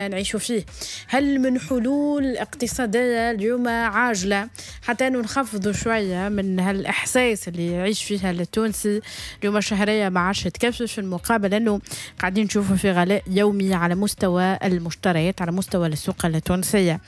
نعيش فيه. هل من حلول اقتصادية اليوم عاجلة حتى أنه نخفضوا شوية من هالإحساس اللي يعيش فيها التونسي اليوم؟ الشهرية ما عادش تكفي، في المقابل أنه قاعدين نشوفوا في غلاء يومي على مستوى المشتريات، على مستوى السوق التونسية.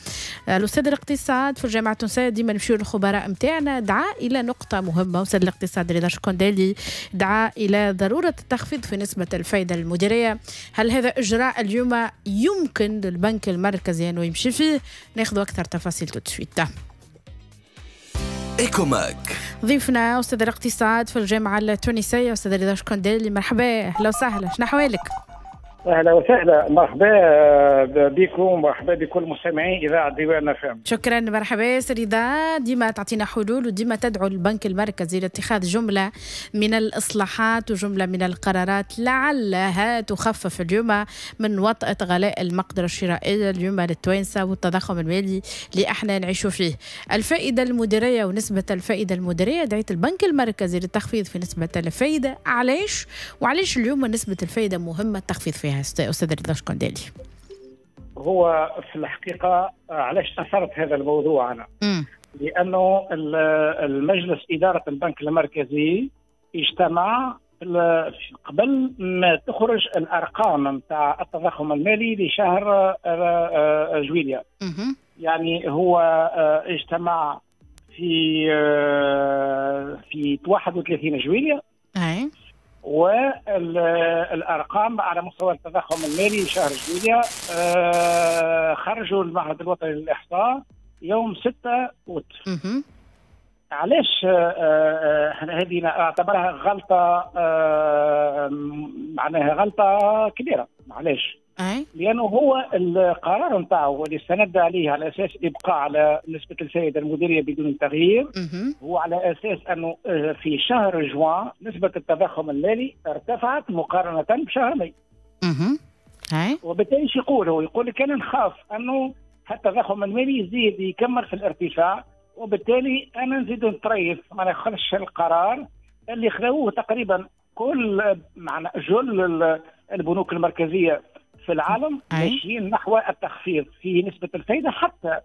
الأستاذ الاقتصاد في الجامعة التونسية، ديما نمشيو للخبراء متاعنا، دعا إلى نقطة مهمة. أستاذ الاقتصاد رضا شكندالي دعا إلى ضرورة التخفيض في نسبة الفائدة المديرية. هل هذا إجراء اليوم يمكن للبنك المركزي أنه يمشي فيه؟ ناخذ أكثر تفاصيل tout de suite. إيكوماك. ضيفنا أستاذ الاقتصاد في الجامعة التونسية أستاذ رضا شكندالي، مرحبا، أهلا وسهلا، شنو أحوالك؟ اهلا وسهلا، مرحبا بكم، مرحبا بكل مستمعي اذاعة ديوان اف ام. شكرا، مرحبا سي رضا. ديما تعطينا حلول وديما تدعو البنك المركزي لاتخاذ جملة من الاصلاحات وجملة من القرارات لعلها تخفف اليوم من وطأة غلاء المقدرة الشرائية اليوم للتوانسه والتضخم المالي اللي احنا نعيشوا فيه. الفائدة المديرية ونسبه الفائدة المديرية، دعيت البنك المركزي للتخفيض في نسبه الفائدة، علاش؟ وعلاش اليوم نسبه الفائدة مهمة التخفيض فيها أستاذ رضا شكندالي؟ هو في الحقيقة علاش أثرت هذا الموضوع أنا؟ لأنه المجلس إدارة البنك المركزي اجتمع قبل ما تخرج الأرقام نتاع التضخم المالي لشهر جويليا. يعني هو اجتمع في 31 جويليا. والارقام على مستوى التضخم المالي شهر جويليا خرجوا المعهد الوطني للاحصاء يوم 6 اوت. علاش هذه اعتبرها غلطه، معناها غلطه كبيرة؟ علاش؟ لانه هو القرار نتاعو اللي استند عليه على اساس ابقاء على نسبه الفائدة المديرية بدون تغيير، هو على اساس انه في شهر جوان نسبه التضخم المالي ارتفعت مقارنة بشهر ماي. وبالتالي شو يقول هو؟ يقول لك انا نخاف انه التضخم المالي يزيد يكمل في الارتفاع، وبالتالي انا نزيد نطريف، ما ناخذش القرار اللي خذوه تقريبا كل معنا جل البنوك المركزية في العالم ماشيين نحو التخفيض في نسبة الفائدة، حتى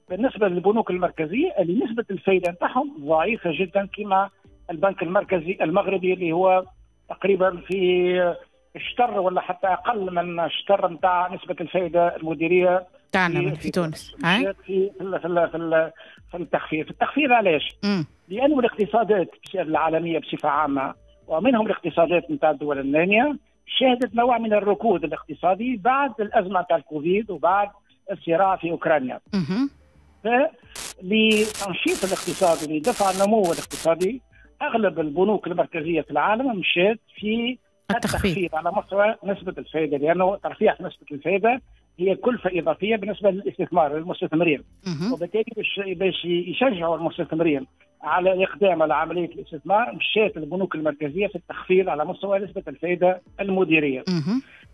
بالنسبة للبنوك المركزية اللي نسبة الفائدة نتاعهم ضعيفة جدا، كما البنك المركزي المغربي اللي هو تقريبا في شطر ولا حتى أقل من شطر نتاع نسبة الفائدة المديرية تاعنا في تونس. في في في في التخفيض. في التخفيض علاش؟ لأنه الاقتصادات العالمية بصفة عامة ومنهم الاقتصادات نتاع الدول النامية شهدت نوع من الركود الاقتصادي بعد الأزمة تاع الكوفيد وبعد الصراع في أوكرانيا. فلتنشيط الاقتصاد ولدفع النمو الاقتصادي أغلب البنوك المركزية في العالم مشات في التخفيض على مستوى نسبة الفائدة، لأنه ترفيع نسبة الفائدة هي كلفة إضافية بالنسبة للاستثمار للمستثمرين، وبالتالي باش يشجعوا المستثمرين على الإقدام على عملية الاستثمار مشات البنوك المركزية في التخفيض على مستوى نسبة الفائدة المديرية.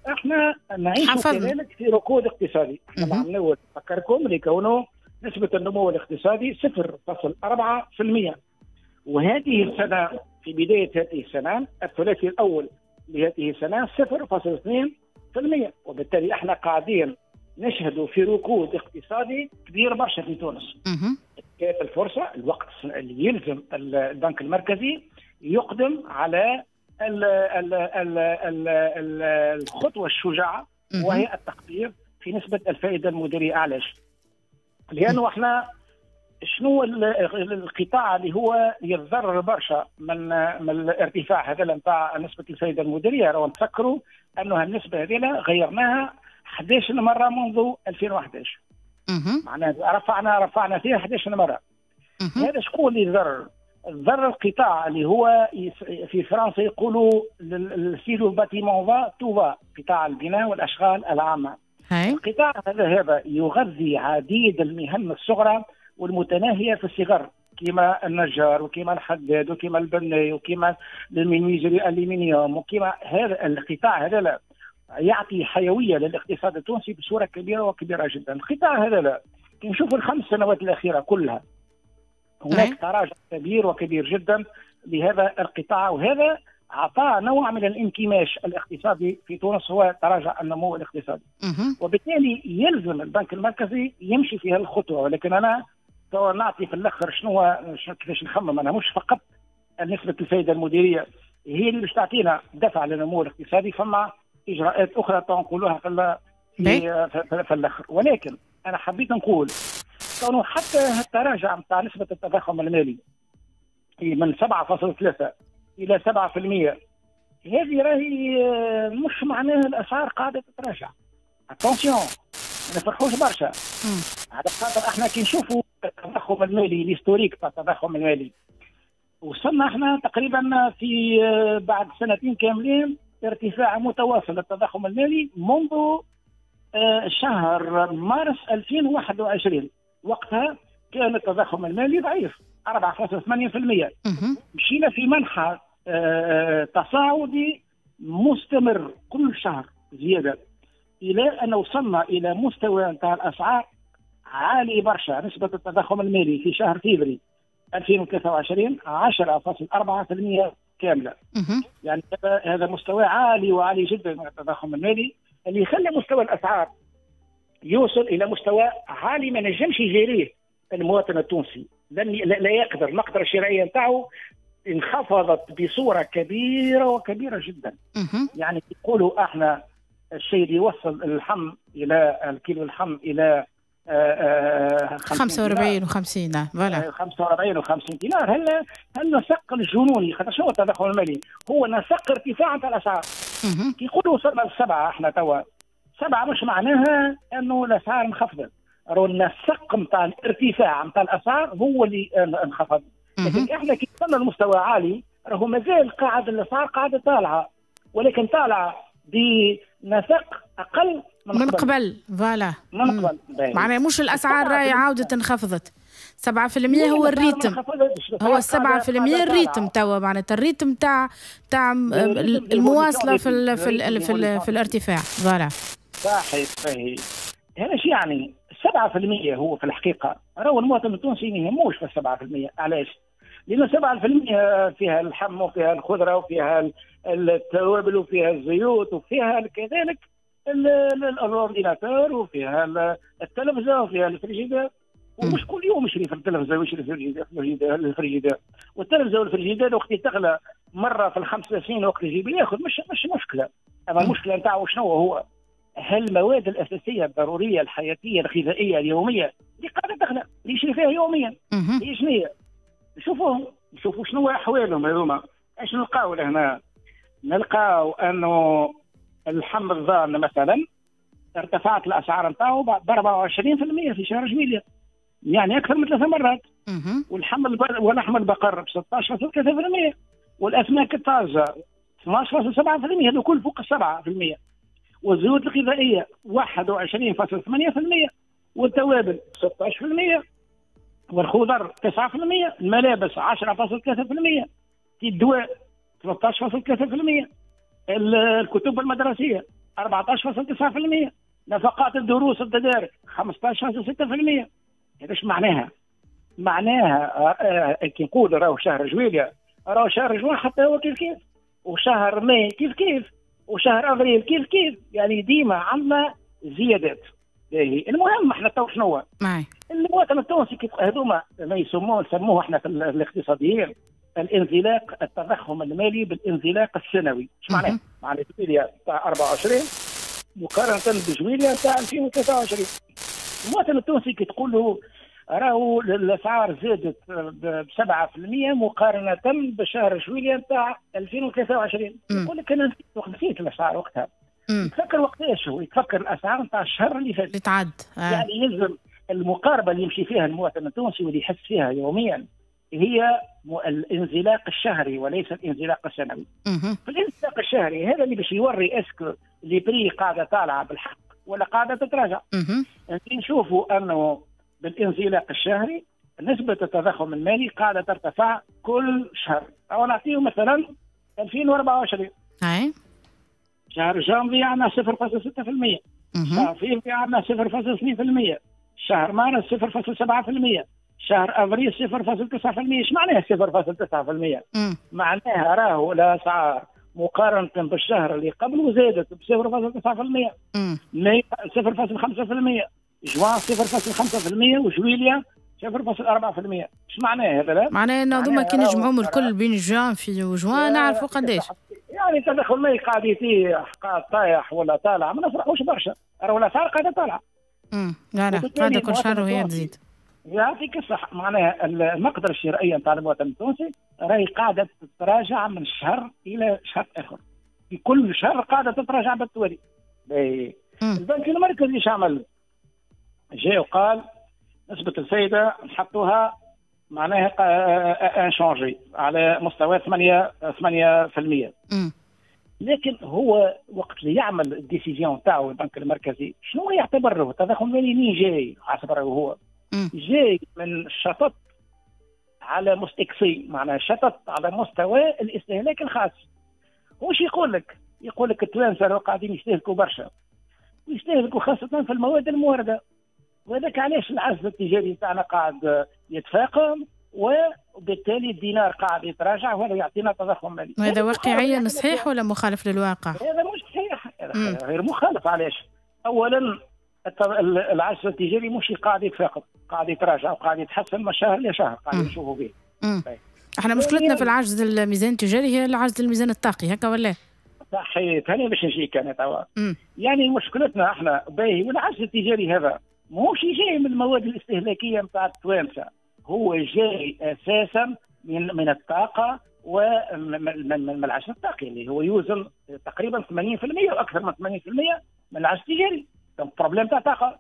احنا نعيش كذلك في ركود اقتصادي. احنا العام الأول نفكركم لكونه نسبة النمو الاقتصادي 0.4%، وهذه السنة في بداية هذه السنة الثلاثي الأول لهذه السنة 0.2%، وبالتالي احنا قاعدين نشهد في ركود اقتصادي كبير برشا في تونس. كانت الفرصة الوقت اللي يلزم البنك المركزي يقدم على ال ال ال ال ال الخطوة الشجاعة، وهي التخفيض في نسبة الفائدة المديرية. علاش؟ لأنه احنا شنو القطاع اللي هو يتضرر برشا من الارتفاع هذا نتاع نسبة الفائدة المديرية؟ راهو نتفكروا أنه النسبة هذه غيرناها 11 مرة منذ 2011. معناها رفعنا فيها 11 مرة. هذا شكون اللي ضرر؟ ضرر القطاع اللي هو في فرنسا يقولوا si le bâtiment va tout va، قطاع البناء والاشغال العامة. القطاع هذا يغذي عديد المهن الصغرى والمتناهيه في الصغر، كما النجار وكما الحداد وكما البناي وكما ال menuisier الالومنيوم وكما هذا القطاع هذا لا يعطي حيوية للاقتصاد التونسي بصورة كبيرة وكبيره جدا. القطاع هذا لا، كي نشوفوا الخمس سنوات الاخيرة كلها هناك تراجع كبير وكبير جدا لهذا القطاع، وهذا عطى نوع من الانكماش الاقتصادي في تونس، هو تراجع النمو الاقتصادي. وبالتالي يلزم البنك المركزي يمشي في هالخطوه. ولكن انا نعطي في الاخر شنو كيفاش نخمم انا، مش فقط نسبه الفائدة المديرية هي اللي باش تعطينا دفع للنمو الاقتصادي، فما اجراءات اخرى تنقولوها في الاخر. ولكن انا حبيت نقول كونه حتى التراجع نتاع نسبه التضخم المالي من 7.3 الى 7%، هذه راهي مش معناها الاسعار قاعدة تتراجع. attention، ما نفرحوش برشا. على خاطر احنا كي نشوفوا التضخم المالي، l'historique تاع التضخم المالي، وصلنا احنا تقريبا في بعد سنتين كاملين ارتفاع متواصل للتضخم المالي منذ شهر مارس 2021. وقتها كان التضخم المالي ضعيف 4.8%. مشينا في منحى تصاعدي مستمر كل شهر زيادة، الى ان وصلنا الى مستوى نتاع الاسعار عالي برشا. نسبه التضخم المالي في شهر فيفري 2023 10.4% كاملة. يعني هذا مستوى عالي وعالي جدا من التضخم المالي اللي يخلي مستوى الاسعار يوصل الى مستوى عالي ما نجمش يجاريه المواطن التونسي، لا يقدر. المقدرة الشرائية نتاعو انخفضت بصورة كبيرة وكبيره جدا. يعني يقولوا احنا الشيء اللي يوصل اللحم الى الكيلو اللحم الى 45 و50، voilà 45 و50 دينار. هل نسق الجنوني؟ خاطر شنو التضخم المالي؟ هو نسق ارتفاع نتاع الاسعار. كي يقولوا وصلنا لسبعة، احنا توا 7 مش معناها انه الاسعار انخفضت، راهو النسق نتاع الارتفاع نتاع الاسعار هو اللي انخفض. لكن احنا كي وصلنا لمستوى عالي راهو مازال قاعد الاسعار قاعدة طالعه، ولكن طالعه بنسق اقل من قبل. voilà، من قبل. معناها مش الاسعار راهي عاودت انخفضت. 7% هو ال rythme، هو 7% ال rythme توا، معناتها ال rythme تاع المواصلة في ال في ال في, ال في الارتفاع. voilà، صحيح صحيح. هذا شو يعني 7% هو في الحقيقة راهو المواطن التونسي ما يهموش في 7%. علاش؟ لأن 7% فيها اللحم وفيها الخضرة وفيها التوابل وفيها الزيوت وفيها كذلك ال ordinateur وفيها التلفزة وفيها الفريجيدير. ومش كل يوم يشري في التلفزة ويشري في الفريجيدير، والتلفزه والفريجيدير وقت تغلى مرة في ال5 سنين وقت يجيب ياخذ مش مشكلة. اما المشكلة نتاعو شنو هو؟ هل المواد الاساسية الضرورية الحياتية الغذائية اليومية اللي قاعدة تغلى اللي يشري فيها يوميا هي شنو هي؟ نشوفوا شنو احوالهم هذوما. اش نلقاو لهنا؟ نلقاو انه اللحم الضان مثلا ارتفعت الاسعار نتاعو ب 24% في شهر جويلية، يعني اكثر من 3 مرات. ولحم البقر ب 16.3%، والاسماك الطازجه 12.7%، هذو كل فوق 7%، والزيوت الغذائية 21.8%، والتوابل 16%، والخضر 9%، الملابس 10.3%، الدواء 13.3%، الكتب المدرسية 14.9%، نفقات الدروس التدارك 15.6%. هذا ايش معناها؟ معناها كي نقول راهو شهر جويليا، راهو شهر جوان حتى هو كيف كيف، وشهر ماي كيف كيف، وشهر افريل كيف كيف، يعني ديما عندنا زيادات. المهم احنا تو شنو هو؟ المواطن التونسي كيف هذوما ما يسموه احنا في الاقتصاديين الانزلاق، التضخم المالي بالانزلاق السنوي. ايش معناه؟ معناه جويليا تاع 24 مقارنة بجويليا تاع 2023. المواطن التونسي كي تقول له راهو الاسعار زادت ب 7% مقارنة بشهر جويليا تاع 2023، يقول لك انا نسيت الاسعار وقتها. يتفكر وقتاش هو؟ يتفكر الاسعار نتاع الشهر اللي فات اللي تعد. يعني يلزم المقاربة اللي يمشي فيها المواطن التونسي واللي يحس فيها يوميا هي الانزلاق الشهري وليس الانزلاق السنوي. في الانزلاق الشهري هذا اللي باش يوري est-ce que les prix قاعدة طالعه بالحق ولا قاعدة تتراجع. نشوفوا انه بالانزلاق الشهري نسبه التضخم المالي قاعدة ترتفع كل شهر. او نعطيه مثلا 2024 شهر جانفي عندنا 0.6%، شهر فيفري عندنا 0.2%، شهر مارس 0.7%، شهر افريل 0.9%. ايش معناها 0.9%؟ معناها راهو الاسعار مقارنة بالشهر اللي قبله زادت ب 0.9%، ماي 0.5%، جوان 0.5%، وجويليا 0.4%. ايش معناها هذا؟ معناها انه هذوما كي نجمعوهم الكل بين جانفي وجوان نعرفوا قداش. يعني التضخم المالي قاعد يطيح، قاعد طايح ولا طالع، ما نفرحوش برشا، راهو الاسعار قاعدة طالعه. لا قاعدة كل شهر وهي تزيد. يعطيك الصح، معناها المقدرة الشرائية نتاع المواطن التونسي راهي قاعدة تتراجع من شهر الى شهر اخر، في كل شهر قاعدة تتراجع بالتوالي. البنك المركزي ايش عمل؟ جاء وقال نسبة الفائدة نحطوها معناها inchangée على مستوى 8%. لكن هو وقت اللي يعمل ال décision تاعو البنك المركزي شنو يعتبره؟ التضخم المالي منين جاي؟ حسب رايه هو جاي من شطط على مستكسي، معناها شطط على مستوى الاستهلاك الخاص. وش يقول لك؟ يقول لك التوانسة قاعدين يستهلكوا برشا، ويستهلكوا خاصة في المواد الموردة، وهذاك علاش العجز التجاري تاعنا قاعد يتفاقم، وبالتالي الدينار قاعد يتراجع، وهذا يعطينا تضخم مالي. وهذا واقعيا صحيح ولا مخالف للواقع؟ هذا مش صحيح، هذا غير مخالف. علاش؟ اولا العجز التجاري مش قاعد يتفاقم، قاعد يتراجع وقاعد يتحسن من شهر لشهر، قاعد نشوفوا فيه. احنا مشكلتنا في العجز الميزان التجاري هي العجز الميزان الطاقي، هكا ولا؟ صحيح، هاني باش نجيك انا توا. يعني مشكلتنا احنا باهي، والعجز التجاري هذا ماهوش جاي من المواد الاستهلاكية نتاع التوانسة، هو جاي اساسا من الطاقة ومن العجز الطاقي اللي هو يوزن تقريبا 80% واكثر من 80% من العجز التجاري، donc problème تاع طاقة.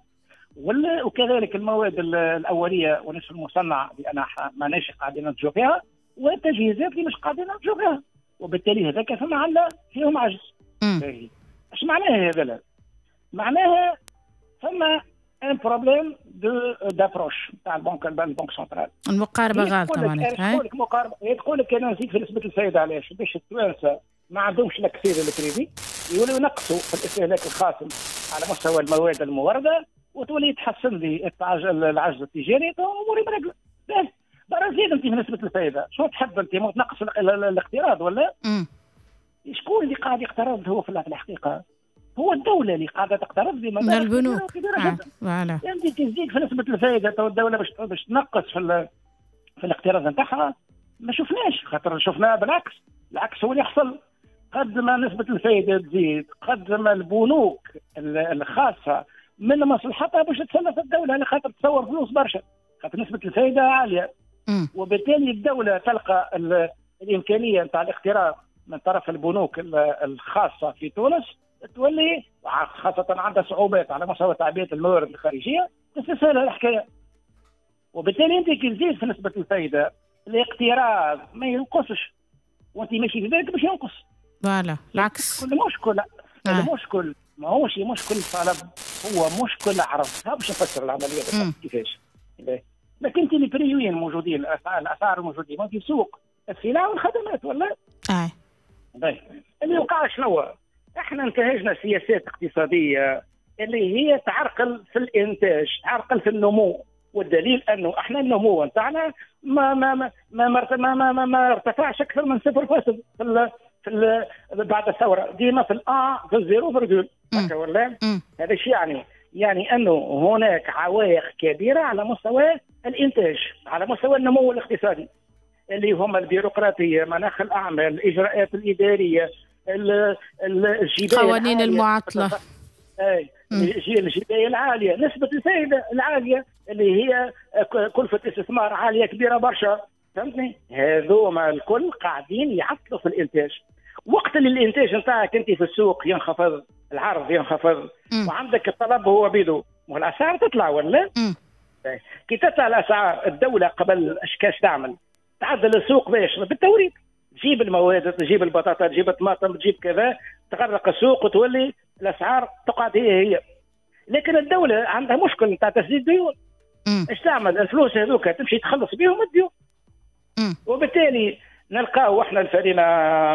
وكذلك المواد الاولية ونصف المصنع لان ماناش قاعدين ننتجوا فيها، والتجهيزات اللي مش قاعدين ننتجوا فيها، وبالتالي هذاك فما عندنا فيهم عجز. اش معناها هذا؟ معناها فما un problème d'approche تاع ال banque centrale. المقاربة غالطه معناتها. تقول لك مقاربة، تقول لك انا نزيد في نسبه الفائدة علاش؟ باش التوانسة ما عندهمش l'accès لل crédit يوليو ينقصوا في الاستهلاك الخاص على مستوى المواد المورده، وتولي تحسن لي العجز التجاري، اموري مرقله. برا زيد انت في نسبه الفائدة، شو تحب انت؟ ما تنقص الاقتراض ولا؟ شكون اللي قاعد يقترض هو في الحقيقة؟ هو الدولة اللي قاعدة تقترض من البنوك كبيرة جدا. voilà. انت تزيد في نسبة الفائدة تو الدولة باش تنقص في الاقتراض نتاعها، ما شفناش، خاطر شفناها بالعكس، العكس هو اللي يحصل. قد ما نسبة الفائدة تزيد، قد ما البنوك الخاصة من مصلحتها باش تسلف الدولة، على خاطر تصور فلوس برشا، خاطر نسبة الفائدة عالية. وبالتالي الدولة تلقى الإمكانية نتاع الاقتراض من طرف البنوك الخاصة في تونس، تولي خاصة عندها صعوبات على مستوى تعبئة الموارد الخارجية، تستسهل الحكاية. وبالتالي أنت كي تزيد في نسبة الفائدة الاقتراض ما ينقصش، وأنت ماشي في بالك باش ينقص. voilà العكس. المشكل المشكل ماهوش مشكل طلب، هو مشكل عرض. باش نفسر العملية كيفاش. لكن انت les prix وين موجودين؟ الاسعار موجودين في سوق السلع والخدمات ولا؟ باهي. اللي وقع شنو؟ احنا انتهجنا سياسات اقتصادية اللي هي تعرقل في الانتاج، تعرقل في النمو، والدليل انه احنا النمو نتاعنا ما ما ما ما ما ما, ما, ما ارتفعش اكثر من 0 في بعد الثورة، ديما في في ال zéro virgule هكا ولا؟ هذا الشيء يعني انه هناك عوائق كبيرة على مستوى الانتاج، على مستوى النمو الاقتصادي، اللي هما البيروقراطية، مناخ الاعمال، الاجراءات الادارية، الجبايه، قوانين المعطلة، الجبايه العالية، نسبه الفائدة العالية اللي هي كلفه استثمار عالية كبيرة برشا، فهمتني؟ هذوما الكل قاعدين يعطلوا في الانتاج. وقت اللي الانتاج نتاعك انت في السوق ينخفض، العرض ينخفض، وعندك الطلب هو بيدو، والاسعار تطلع ولا؟ كي تطلع الاسعار الدولة قبل اش كاش تعمل؟ تعدل السوق باش بالتوريد، تجيب المواد، تجيب البطاطا، تجيب الطماطم، تجيب كذا، تغرق السوق وتولي الاسعار تقعد هي هي. لكن الدولة عندها مشكل نتاع تسديد ديون. اش تعمل؟ الفلوس هذوك تمشي تخلص بهم الديون. وبالتالي نلقاو احنا الفرينة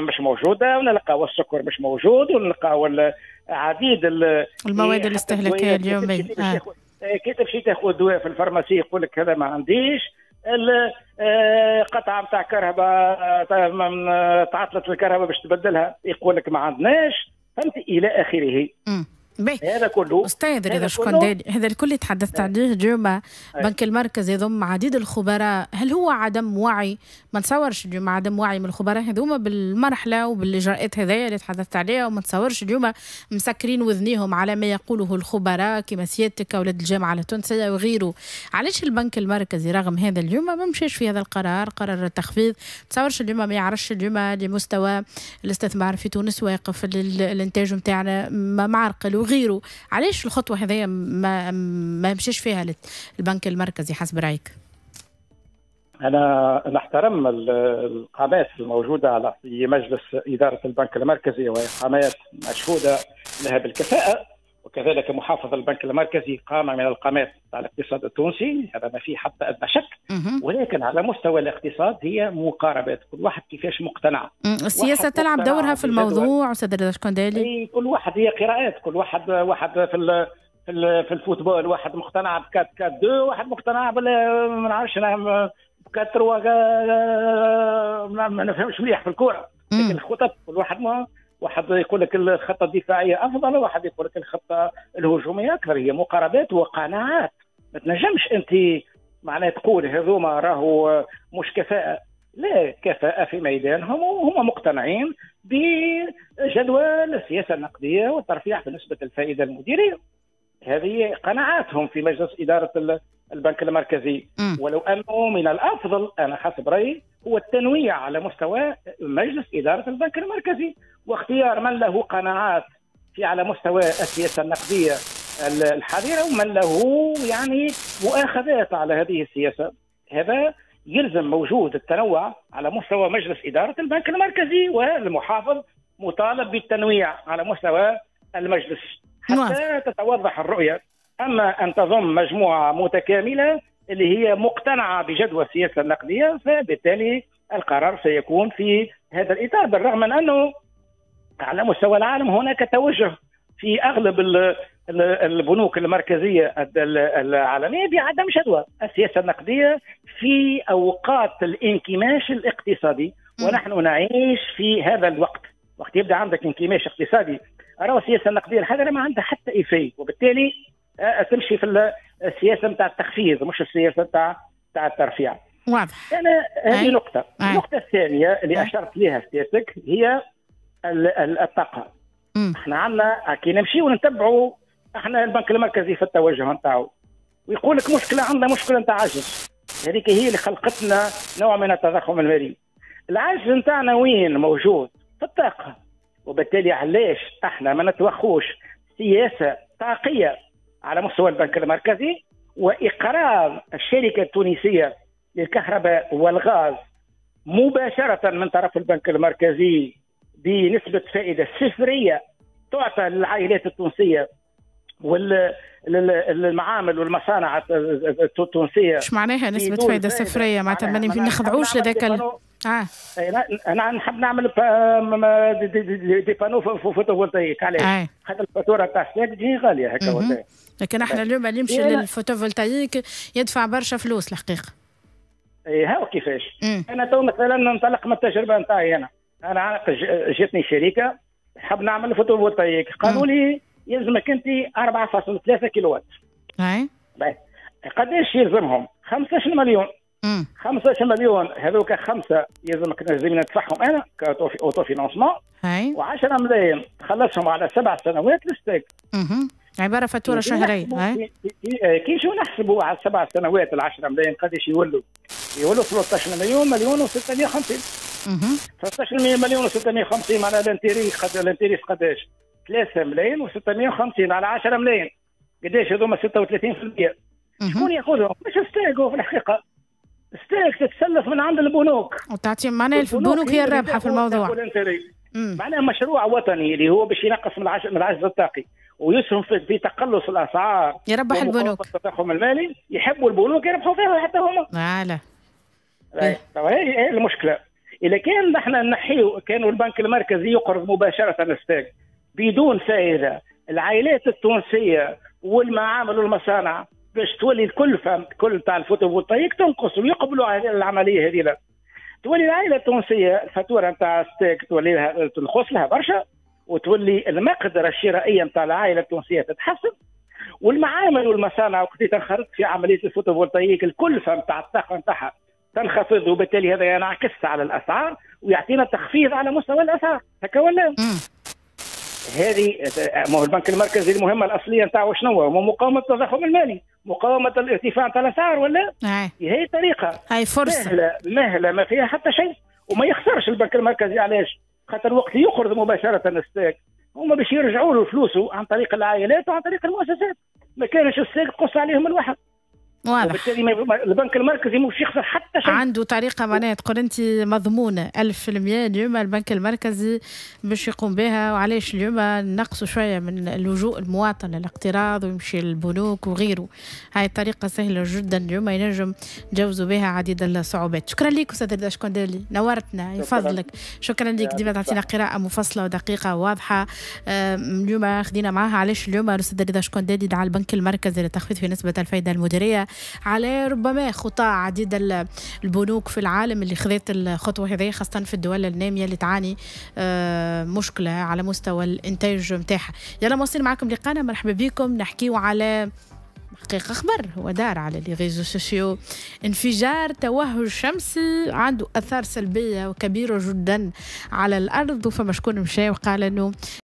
مش موجودة، ونلقاو السكر مش موجود، ونلقاو عديد المواد الاستهلاكية اليومية. كي تمشي تاخذ دواء في ال pharmacie يقول لك هذا ما عنديش. قطعه نتاع كهرباء تعطلت الكهرباء باش تبدلها يقول لك ما عندناش، فهمت الى اخره. هذا كله استاذ رضا شكندالي، هذا الكل تحدثت عليه اليوم. بنك المركز يضم عديد الخبراء، هل هو عدم وعي؟ ما نتصورش اليوم عدم وعي من الخبراء هذوما بالمرحلة وبالاجراءات هذيا اللي تحدثت عليها، وما نتصورش اليوم مسكرين وذنيهم على ما يقوله الخبراء كما سيادتك اولاد الجامعة التونسية وغيره. علاش البنك المركزي رغم هذا اليوم ما مشاش في هذا القرار، قرار التخفيض؟ تصورش اليوم ما يعرفش اليوم لمستوى الاستثمار في تونس واقف، الانتاج نتاعنا معرقل وغيره. علاش الخطوة هذيا ما مشاش فيها البنك المركزي حسب رأيك؟ أنا نحترم القامات الموجودة على في مجلس إدارة البنك المركزي، وهي قامات مشهودة لها بالكفاءة، وكذلك محافظ البنك المركزي قامة من القامات على الاقتصاد التونسي، هذا ما فيه حتى أدنى شك. ولكن على مستوى الاقتصاد هي مقاربات، كل واحد كيفاش مقتنع. السياسة تلعب دورها في الموضوع أستاذ رضا شكندالي. كل واحد هي قراءات، كل واحد في في ال football، واحد مقتنع ب 4-4-2، واحد مقتنع بال ما نعرفش انا 4-3، ما نفهمش مليح في الكورة. لكن الخطط كل واحد ما واحد يقول لك الخطة الدفاعية افضل، وواحد يقول لك الخطة الهجومية اكثر. هي مقاربات وقناعات، ما تنجمش انت معناها تقول هذوما راهو مش كفاءة. لا، كفاءة في ميدانهم وهم مقتنعين بجدوى السياسة النقدية والترفيع في نسبه الفائدة المديرية. هذه قناعاتهم في مجلس ادارة البنك المركزي. ولو انه من الافضل انا حسب رايي هو التنويع على مستوى مجلس ادارة البنك المركزي، واختيار من له قناعات في على مستوى السياسة النقدية الحذره ومن له يعني مؤاخذات على هذه السياسة. هذا يلزم موجود التنوع على مستوى مجلس ادارة البنك المركزي، والمحافظ مطالب بالتنويع على مستوى المجلس حتى تتوضح الرؤية. اما ان تضم مجموعة متكاملة اللي هي مقتنعة بجدوى السياسة النقدية، فبالتالي القرار سيكون في هذا الاطار، بالرغم من انه على مستوى العالم هناك توجه في اغلب البنوك المركزية العالمية بعدم جدوى السياسة النقدية في اوقات الانكماش الاقتصادي، ونحن نعيش في هذا الوقت. وقت يبدا عندك انكماش اقتصادي، راهو السياسة النقدية الحذره ما عندها حتى effet، وبالتالي تمشي في السياسة نتاع التخفيض مش السياسة نتاع الترفيع. واضح. انا هذه نقطة. النقطة الثانية اللي اشرت لها سيادتك هي الطاقة. احنا عندنا كي نمشيو ونتبعوا احنا البنك المركزي في التوجه نتاعو، ويقول لك مشكلة، عندنا مشكلة نتاع عجز، هذيك هي اللي خلقتنا نوع من التضخم المالي. العجز نتاعنا وين موجود؟ في الطاقة. وبالتالي علاش احنا ما نتوخوش سياسة طاقية على مستوى البنك المركزي واقراض الشركة التونسية للكهرباء والغاز مباشرة من طرف البنك المركزي بنسبة فائدة صفريه تعطى للعائلات التونسية والمعامل والمصانع التونسية. ايش معناها نسبه فائدة صفريه؟ معناتها ما نخضعوش لذاك انا نحب نعمل des panneaux photovoltaïques. علاش؟ خاطر الفاتورة تاع الساك تجي غالية هكا ولا. لكن احنا اليوم اللي يمشي لل photovoltaïque يدفع برشا فلوس الحقيقة. اي هاو كيفاش. انا تو مثلا ننطلق من التجربة نتاعي، انا جاتني شركة حاب نعمل photovoltaïque، قالوا لي يلزمك انت 4.3 كيلو وات. اي قداش يلزمهم؟ 15 مليون. 15 مليون هذوك خمسة يلزمك لازم ندفعهم انا ك autofinancement، و10 ملايين تخلصهم على 7 سنوات للستاغ. عبارة فاتورة شهرية. كي نجيو نحسبوا على 7 سنوات ال 10 ملايين قداش يولوا؟ يولوا 13 مليون و650. 13 مليون و650 معناها l'intérêt قداش؟ 3 ملايين و650 على 10 ملايين قداش هذوما؟ 36%. شكون ياخذهم؟ مش الستاغ في الحقيقة. الستاغ تتسلف من عند البنوك وتعطي، معناها البنوك هي الرابحة في الموضوع. معناها مشروع وطني اللي هو باش ينقص من العجز الطاقي ويسهم في تقلص الاسعار، يربح البنوك. التضخم المالي يحبوا البنوك يربحوا فيها حتى هما. voilà. هي المشكلة. اذا كان نحن نحيو، كانوا البنك المركزي يقرض مباشرة الستاغ بدون فائدة، العائلات التونسية والمعامل والمصانع باش تولي الكلفة كل تاع ال photovoltaïque تنقص ويقبلوا على العملية هذه. تولي العائلة التونسية الفاتورة نتاع الستاغ تولي لها تنقص لها برشا، وتولي المقدرة الشرائية نتاع العائلة التونسية تتحسن، والمعامل والمصانع وقت تنخرط في عملية ال photovoltaïque الكلفة نتاع الطاقة نتاعها تنخفض، وبالتالي هذا ينعكس على الاسعار ويعطينا تخفيض على مستوى الاسعار، هكا ولا؟ هذه ما هو البنك المركزي المهمة الاصلية نتاعو شنو هو؟ مقاومة التضخم المالي، مقاومة الارتفاع نتاع الاسعار ولا؟ هي طريقه، هاي فرصة سهلة مهله ما فيها حتى شيء، وما يخسرش البنك المركزي. علاش؟ خاطر وقت يقرض مباشرة الستاغ هما باش يرجعوا له فلوسه عن طريق العائلات وعن طريق المؤسسات، ما كانش الستاغ تقص عليهم الواحد. واضح. وبالتالي البنك المركزي مش يخسر حتى شيء. عنده طريقة معناها تقول أنت مضمونة 1000% اليوم البنك المركزي باش يقوم بها. وعلاش اليوم نقصوا شوية من اللجوء المواطن للاقتراض ويمشي للبنوك وغيره؟ هاي الطريقة سهلة جدا اليوم ينجم نجاوزوا بها عديد الصعوبات. شكرا لك أستاذ رضا شكندالي، نورتنا يفضلك. شكرا لك، ديما تعطينا قراءة مفصلة ودقيقة وواضحة. اليوم خدينا معاها علاش اليوم الأستاذ رضا شكندالي دعا البنك المركزي للتخفيض في نسبة الفائدة المديرية على ربما خطى عديد البنوك في العالم اللي خذت الخطوة هذه، خاصة في الدول النامية اللي تعاني مشكلة على مستوى الإنتاج متاعها. يلا مواصلين معكم لقانا، مرحبا بكم. نحكيو على حقيقة خبر هو دار على les réseaux sociaux، انفجار توهج شمسي عنده أثار سلبية وكبيرة جدا على الأرض، وفما شكون مشى وقال أنه